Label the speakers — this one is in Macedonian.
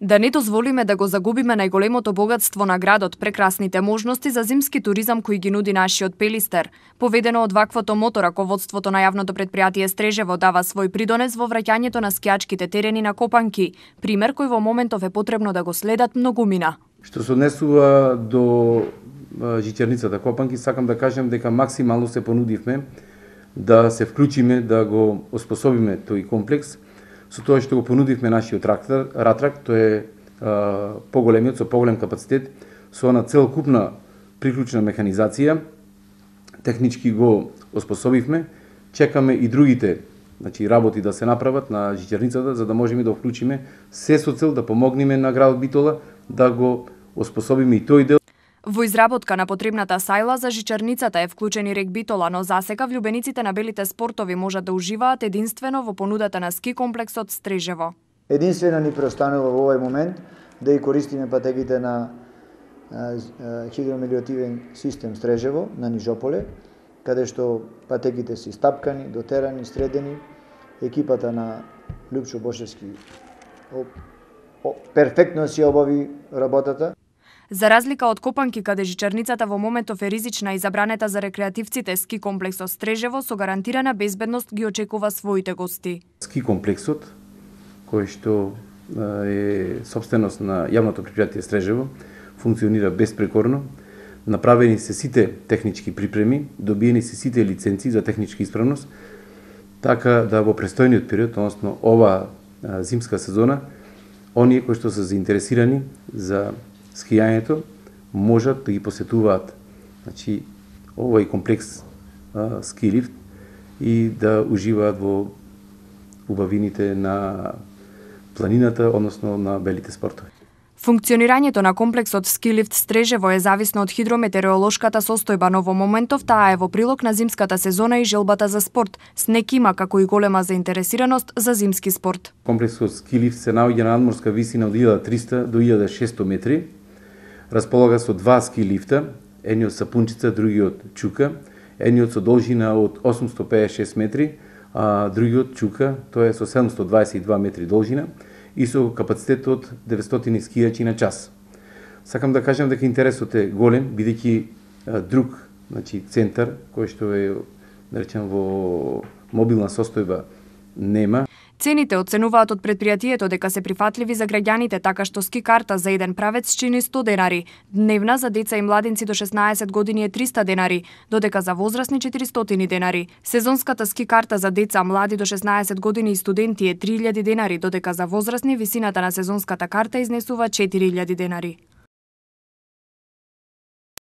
Speaker 1: Да не дозволиме да го загубиме најголемото богатство на градот, прекрасните можности за зимски туризам кои ги нуди нашиот Пелистер. Поведено од ваквото мото, раководството на јавното предпријатие Стрежево дава свој придонес во враќањето на скијачките терени на Копанки, пример кој во моментов е потребно да го следат многумина.
Speaker 2: Што се однесува до жичарницата Копанки, сакам да кажем дека максимално се понудивме да се вклучиме, да го оспособиме тој комплекс, со тоа што го понудивме нашиот ратрак, тој е поголемиот, со поголем капацитет, со она целокупна приклучна механизација, технички го оспособивме, чекаме и другите работи да се направат на жичарницата, за да можеме да вклучиме се со цел да помогнеме на градот Битола да го оспособиме и тој дел.
Speaker 1: Во изработка на потребната сајла за жичарницата е вклучен и рек Битола, но засега влюбениците на белите спортови можат да уживаат единствено во понудата на ски комплексот Стрежево.
Speaker 3: Единствено ни преостанува во овој момент да и користиме патеките на хидромелиоративен систем Стрежево на Нижополе, каде што патеките се стапкани, дотерани, средени. Екипата на Лјупчо Бошевски перфектно си обави работата.
Speaker 1: За разлика од Копанки, каде жичарницата во моментов е ризична и забранета за рекреативците, ски комплексот Стрежево со гарантирана безбедност ги очекува своите гости.
Speaker 2: Ски комплексот, кој што е собственост на јавното предпријатие Стрежево, функционира безпрекорно. Направени се сите технички припреми, добиени се сите лиценци за техничка исправност, така да во престојниот период, односно ова зимска сезона, оние кои што се заинтересирани за скијањето можат да ги посетуваат овој комплекс ски лифт и да уживаат во убавините на планината, односно на белите спортови.
Speaker 1: Функционирањето на комплексот ски лифт Стрежево е зависно од хидрометеоролошката состојба, но во моментов таа е во прилог на зимската сезона и желбата за спорт. Снег има како и голема заинтересираност за зимски спорт.
Speaker 2: Комплексот ски лифт се наоѓа на надморска висина од 1300 до 1600 метри. Располага со два ски лифта, едниот Сапунчица, другиот Чука, едниот со должина од 856 метри, а другиот Чука, тоа е со 722 метри должина и со капацитет од 900 скијачи на час. Сакам да кажам дека интересот е голем, бидејќи друг центар, кој што е наречен во мобилна состојба, нема.
Speaker 1: Цените оценуваат од предпријатието дека се прифатливи за граѓаните, така што ски карта за еден правец чини 100 денари, дневна за деца и младинци до 16 години е 300 денари, додека за возрастни 400 денари. Сезонската ски карта за деца, млади до 16 години и студенти е 3000 денари, додека за возрастни висината на сезонската карта изнесува 4000 денари.